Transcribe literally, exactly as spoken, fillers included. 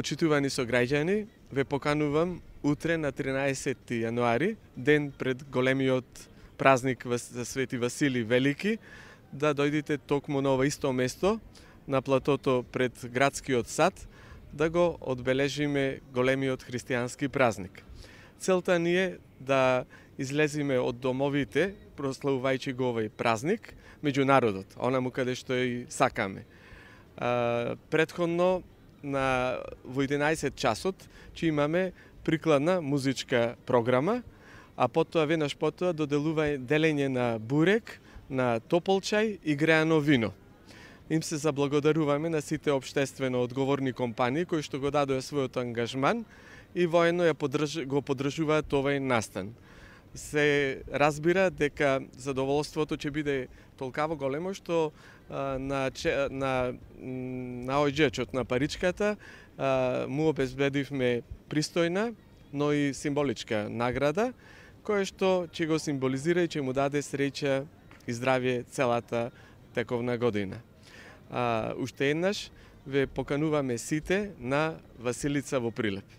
Почитувани сограѓани, ве поканувам утре на тринаесетти јануари, ден пред големиот празник за Свети Василий Велики, да дојдете токму на ова исто место, на платото пред градскиот сад, да го одбележиме големиот христијански празник. Целта ни е да излезиме од домовите, прославувајќи го овој празник, меѓу народот, онаму каде што и сакаме. А, предходно, на во единаесет часот, че имаме прикладна музичка програма, а потоа веднаш потоа доделува делење на бурек, на топол чај и греано вино. Им се заблагодаруваме на сите општествено одговорни компании кои што го дадоа својот ангажман и воено ја поддрж... го поддржуваат овој настан. Се разбира дека задоволството ќе биде толкаво големо што а, на, на, на оѓечот на паричката а, му обезбедивме пристојна, но и символичка награда, која што ќе го символизира и ќе му даде среќа и здравје целата тековна година. А, уште еднаш ве покануваме сите на Василица во Прилеп.